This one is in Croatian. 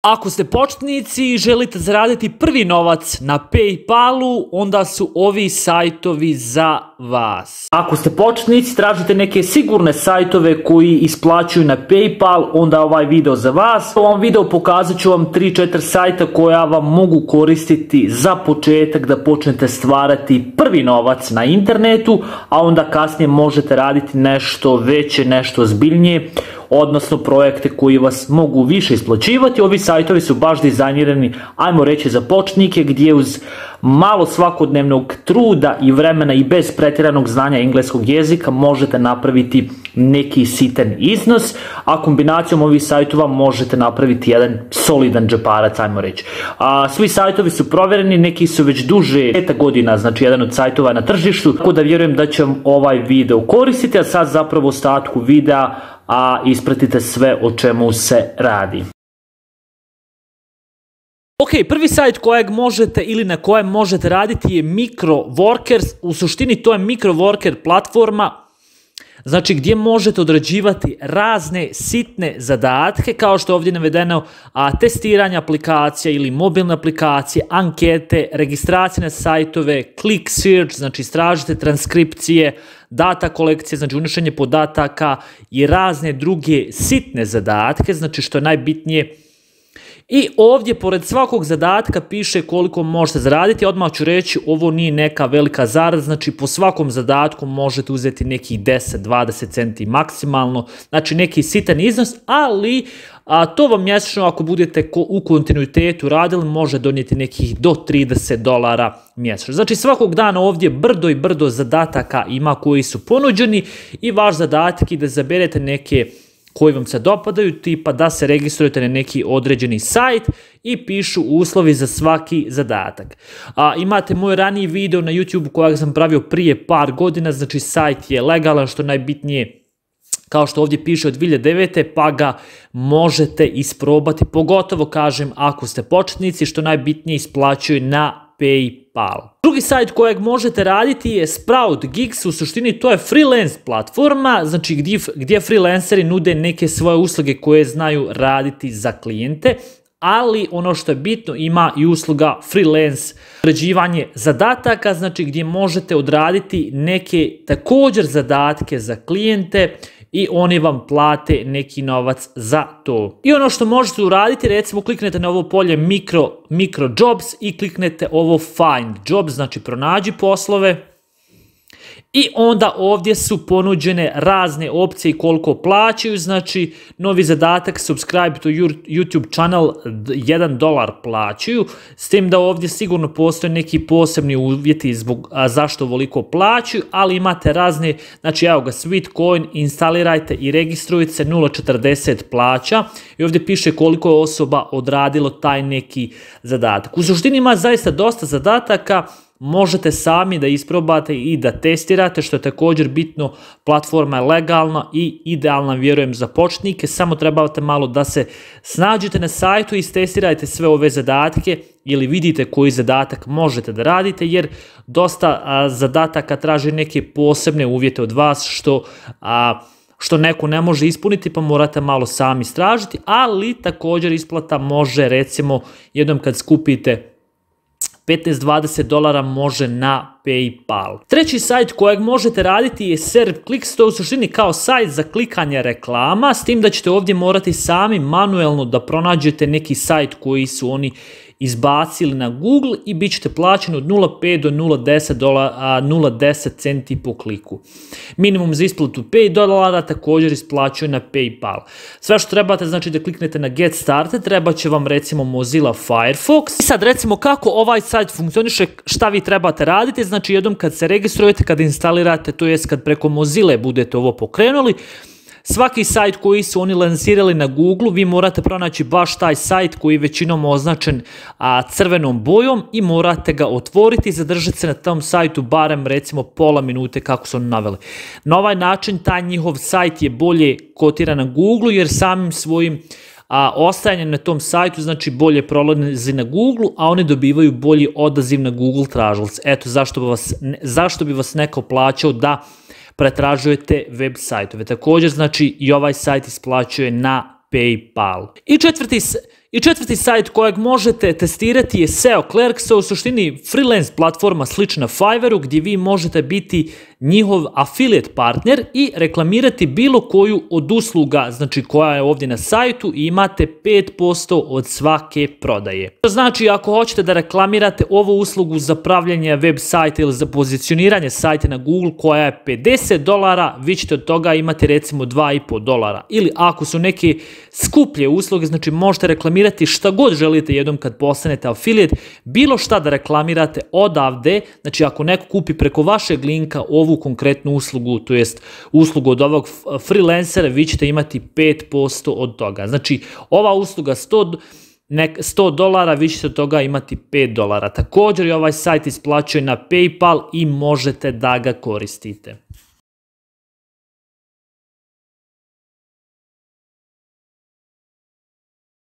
Ako ste početnici i želite zaraditi prvi novac na PayPalu, onda su ovi sajtovi za vas. Ako ste početnici, tražite neke sigurne sajtove koji isplaćuju na PayPal, onda ovaj video za vas. U ovom videu pokazat ću vam 3-4 sajta koja vam mogu koristiti za početak da počnete stvarati prvi novac na internetu, a onda kasnije možete raditi nešto veće, nešto ozbiljnije, odnosno projekte koji vas mogu više isplaćivati. Ovi sajtovi su baš dizajnirani, ajmo reći, za početnike, gdje uz malo svakodnevnog truda i vremena i bez pretjeranog znanja engleskog jezika možete napraviti neki sitan iznos, a kombinacijom ovih sajtova možete napraviti jedan solidan džeparac, ajmo reći. Svi sajtovi su provjereni, neki su već duže 5 godina, znači jedan od sajtova na tržištu, tako da vjerujem da će vam ovaj video koristiti, a sad zapravo u ostatku videa ispratite sve o čemu se radi. Ok, prvi sajt kojeg možete ili na kojem možete raditi je MicroWorkers. U suštini to je MicroWorker platforma, znači gdje možete odrađivati razne sitne zadatke, kao što je ovdje navedeno, testiranje aplikacija ili mobilne aplikacije, ankete, registracije na sajtove, click search, znači istražite transkripcije, data kolekcije, znači unošenje podataka i razne druge sitne zadatke, znači što je najbitnije. I ovdje pored svakog zadatka piše koliko možete zaraditi. Odmah ću reći, ovo nije neka velika zarada, znači po svakom zadatku možete uzeti nekih 10-20 centi maksimalno, znači neki sitan iznos, ali to vam mjesečno, ako budete u kontinuitetu radili, može donijeti nekih do $30 mjesečno. Znači svakog dana ovdje brdo i brdo zadataka ima koji su ponuđeni i vaš zadatak je da zaberete neke koji vam se dopadaju, tipa da se registrujete na neki određeni sajt i pišu uslovi za svaki zadatak. Imate moj raniji video na YouTube kojeg sam pravio prije par godina, znači sajt je legalan, što najbitnije, kao što ovdje piše, od 2009. pa ga možete isprobati, pogotovo kažem ako ste početnici, što najbitnije isplaćuje na PayPal. Drugi sajt kojeg možete raditi je Sprout Gigs, u suštini to je freelance platforma, znači gdje freelanceri nude neke svoje usluge koje znaju raditi za klijente, ali ono što je bitno, ima i usluga freelance odrađivanje zadataka, znači gdje možete odraditi neke također zadatke za klijente i oni vam plate neki novac za to. I ono što možete uraditi, recimo kliknete na ovo polje micro jobs i kliknete ovo find jobs, znači pronađi poslove. I onda ovdje su ponuđene razne opcije i koliko plaćaju, znači novi zadatak subscribe to YouTube channel $1 plaćaju, s tim da ovdje sigurno postoje neki posebni uvjeti zašto ovoliko plaćaju, ali imate razne, znači evo ga, Sweetcoin, instalirajte i registrujte se, 0,40 plaća i ovdje piše koliko je osoba odradilo taj neki zadatak. U suštini ima zaista dosta zadataka, možete sami da isprobate i da testirate, što je također bitno. Platforma je legalna i idealna, vjerujem, za početnike, samo trebate malo da se snađete na sajtu i istestirajte sve ove zadatke ili vidite koji zadatak možete da radite, jer dosta zadataka traži neke posebne uvjete od vas što neko ne može ispuniti, pa morate malo sami istražiti, ali također isplata može, recimo, jednom kad skupite $15-20 može na PayPal. Treći sajt kojeg možete raditi je ServClicks, to je u suštini kao sajt za klikanje reklama, s tim da ćete ovdje morati sami manuelno da pronađete neki sajt koji su oni izbacili na Google i bit ćete plaćeni od 0,5 do 0,10 centi po kliku. Minimum za isplatu $5 također isplaćuje na PayPal. Sve što trebate, znači da kliknete na Get Started, treba će vam recimo Mozilla Firefox. I sad recimo kako ovaj sajt funkcioniše, šta vi trebate raditi, znači jednom kad se registrujete, kad instalirate, to jest kad preko Mozilla budete ovo pokrenuli, svaki sajt koji su oni lansirali na Google, vi morate pronaći baš taj sajt koji je većinom označen crvenom bojom i morate ga otvoriti i zadržati se na tom sajtu barem recimo pola minute kako su oni naveli. Na ovaj način taj njihov sajt je bolje kotiran na Google, jer samim svojim ostajanjem na tom sajtu znači bolje prolazi na Google, a oni dobivaju bolji odaziv na Google tražilice. Eto zašto bi vas neko plaćao da pretražujete web sajtove. Također, znači, i ovaj sajt isplaćuje na PayPal. I četvrti sajt kojeg možete testirati je SEO Clerk, u suštini freelance platforma slična Fiverru gdje vi možete biti njihov affiliate partner i reklamirati bilo koju od usluga, znači koja je ovdje na sajtu i imate 5% od svake prodaje. To znači ako hoćete da reklamirate ovu uslugu za pravljenje web sajta ili za pozicioniranje sajta na Google koja je $50, vi ćete od toga imati recimo $2,5. Ili ako su neke skuplje usluge, znači možete reklamirati šta god želite jednom kad postanete affiliate, bilo šta da reklamirate odavde, znači ako neko kupi preko vašeg linka ovu konkretnu uslugu, to jest uslugu od ovog freelancera, vi ćete imati 5% od toga. Znači ova usluga $100, vi ćete od toga imati $5. Također i ovaj sajt isplaćuje na PayPal i možete da ga koristite.